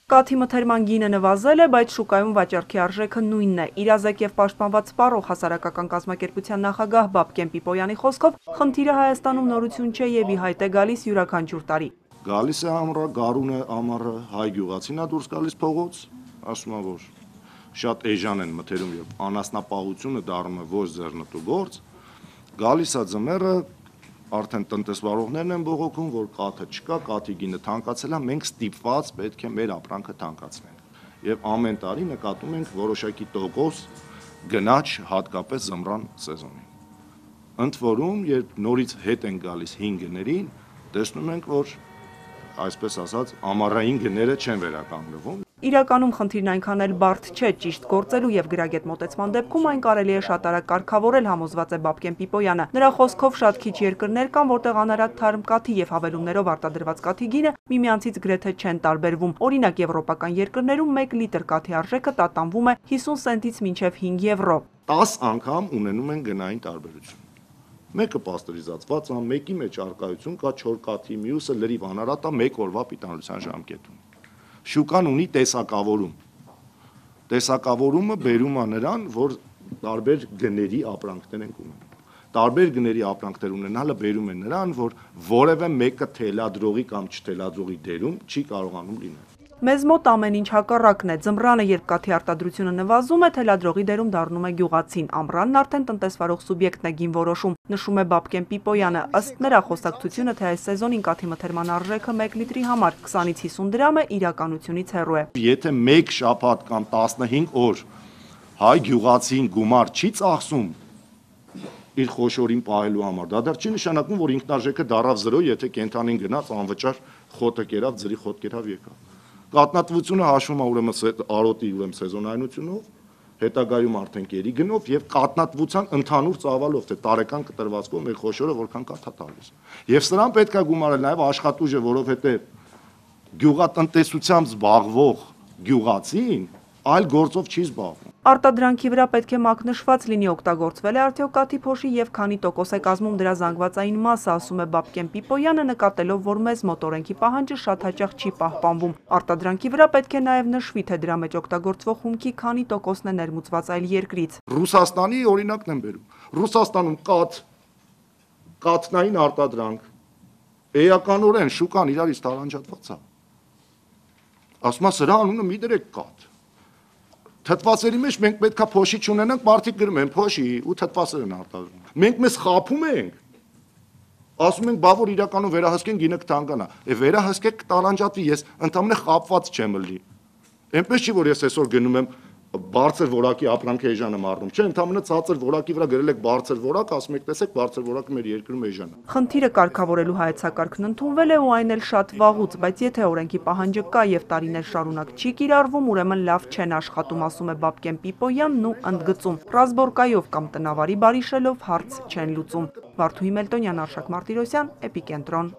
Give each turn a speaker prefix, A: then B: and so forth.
A: Կաթի մթերման գինը նվազել է, բայց շուկայում վաճառքի արժեքը նույնն է։ Իրազեկ եւ պաշտպանված սպառող հասարակական կազմակերպության նախագահ Բաբկեն Պիպոյանի խոսքով, խնդիրը Հայաստանում նորություն չէ եւ ի հայտ է գալիս յուրաքանչյուր տարի։
B: Գալիս է ամռը, գարունը, ամառը, հայ գյուղացին է դուրս գալիս փողոց, ասում է, որ շատ էժան են մթերում եւ անասնապահությունը դառնում է ոչ ձեռնտու գործ, գալիս է ձմեռը, արդեն տնտեսվարողներն են բողոքում, որ կաթը չկա, կաթի գինը թանկացել է, մենք ստիպված պետք է մեր ապրանքը թանկացնենք։ Եվ ամեն տարի նկատում ենք որոշակի տոկոս գնաչ հատկապես ձմռան սեզոնին։ Ընդ որում, երբ նորից հետ են գալիս հին գներին, տեսնում ենք, որ այսպես ասած, ամառային գները չեն վերականգնվում։
A: Իրականում խնդիրն այնքան էլ բարդ չէ, ճիշտ գործելու եւ գրագետ մոտեցման դեպքում այն կարելի է շատ արագ կարգավորել, համոզված է Բաբկեն Պիպոյանը։ Նրա խոսքով շատ քիչ երկրներ կան, որտեղ անարատ թարմ կաթի եւ հավելումներով արտադրված կաթի գինը միմյանցից գրեթե չեն տարբերվում։ Օրինակ, եվրոպական երկրներում 1 լիտր կաթի արժեքը տատանվում է 50 սենտից մինչև 5 եվրո։
B: 10 անգամ ունենում են գնային տարբերություն։ Մեկը պաստերիզացված է, մեկի մեջ արկայություն կա չոր կաթի, մյուսը լրիվ անարատ է 1 օրվա պիտանության ժամկետում։ Շուկան ունի տեսակավորում։ Տեսակավորումը բերում է նրան, որ տարբեր գների ապրանքներ են ունենում։ Տարբեր գների ապրանքներ ունենալը բերում է նրան, որ որևէ մեկը թելադրողի կամ չթելադրողի դերում չի կարողանում լինել։
A: Մեզ մոտ ամեն ինչ հակառակն է։ Ձմռանը, երբ կաթի արտադրությունը նվազում է, թելադրողի դերում դառնում է գյուղացին։ Ամռանն արդեն տնտեսվարող սուբյեկտն է գին որոշում, նշում է Բաբկեն Պիպոյանը։ Ըստ նրա, խոսակցությունը, թե այս սեզոնին կաթի մթերման արժեքը 1 լիտրի համար 20-ից 50 դրամ է, իրականությունից հեռու է։
B: Եթե մեկ շաբաթ կամ 15 օր հայ գյուղացին գումար չի ծախսում իր խոշորին պահելու համար, դա դեռ չի նշանակում, որ ինքնարժեքը դառավ 0, եթե կենթանին գնաց անվճար խոտը կերավ, ձրի խոտ կերավ եկավ։ Կատնատվությունը հաշվում է ուրեմն արոտի սեզոնայնությունով, հետագայում արդեն կերի գնով եւ կատնատվության ընդհանուր ծավալով, թե տարեկան կտրվածքով մեր խոշորը որքան կաթ է տալիս։ Եվ սրան պետք է գումարել նաեւ աշխատուժը, որովհետեւ գյուղատնտեսությամբ զբաղվող գյուղացին այլ գործով չի զբաղվում։
A: Արտադրանքի վրա պետք է մակնշված լինի օգտագործվել է արդյոք կաթի փոշի եւ քանի տոկոս է կազմում դրա զանգվածային մասը, ասում է Բաբկեն Պիպոյանը, նկատելով, որ մեզ մոտ օրենքի պահանջը շատ հաճախ չի պահպանվում։ Արտադրանքի վրա պետք է նաեւ նշվի, թե դրա մեջ օգտագործվող հումքի քանի տոկոսն է ներմուծված այլ երկրից։
B: Ռուսաստանի օրինակն եմ բերում։ Ռուսաստանում կաթնային արտադրանք էականորեն շուկան իրարից տարանջատված է։ Ասում է սրա անունը մի դրեք կաթ։ Թթվածերի մեջ մենք պետքա փոշի չունենանք, մարդիկ գրում են փոշի ու թթվածեր են արտադրում։ Մենք մեզ խաբում ենք։ Ասում ենք, բա որ իրականում վերահսկեն գինը կթանկանա։ Վերահսկեք կտարանջատվի, ես ընդամենը խաբված չեմ լի։ Էնպես չի, որ ես այսօր գնում եմ բարձր որակի ապրանքի էժան եմ առնում, չէ, ընդամենը ցածր որակի վրա գրել եք բարձր որակ, ասում եք, տեսեք, բարձր որակը մեր երկրում էժան է։
A: Խնդիրը կարգավորելու հայեցակարգն ընդունվել է ու այն էլ շատ վաղուց, բայց եթե օրենքի պահանջը կա եւ տարիներ շարունակ չի կիրառվում, ուրեմն լավ չեն աշխատում, ասում է Բաբկեն Պիպոյանն ու ընդգծում. ռազմորկայով կամ տնավարի բարիշելով հարց չեն լուծում։ Վարդուհի Մելտոնյան, Արշակ Մարտիրոսյան, Էպիկենտրոն։